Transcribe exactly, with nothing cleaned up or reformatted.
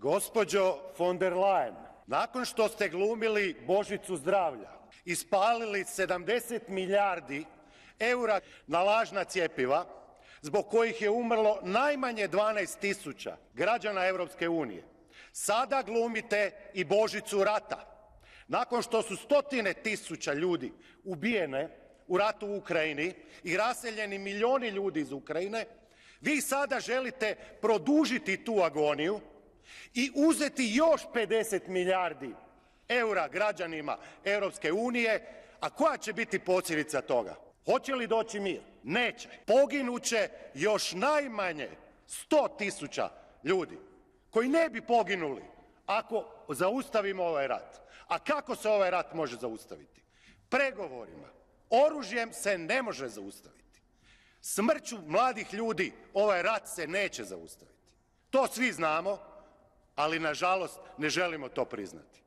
Gospođo von der Leyen, nakon što ste glumili Božicu zdravlja, ispalili sedamdeset milijardi eura na lažna cjepiva, zbog kojih je umrlo najmanje dvanaest tisuća građana Europske unije, sada glumite i Božicu rata. Nakon što su stotine tisuća ljudi ubijene u ratu u Ukrajini i raseljeni milijuni ljudi iz Ukrajine, vi sada želite produžiti tu agoniju i uzeti još pedeset milijardi eura građanima Europske unije, a koja će biti posljedica toga? Hoće li doći mir? Neće. Poginuće još najmanje sto tisuća ljudi koji ne bi poginuli ako zaustavimo ovaj rat. A kako se ovaj rat može zaustaviti? Pregovorima. Oružjem se ne može zaustaviti. Smrću mladih ljudi ovaj rat se neće zaustaviti. To svi znamo, ali nažalost ne želimo to priznati.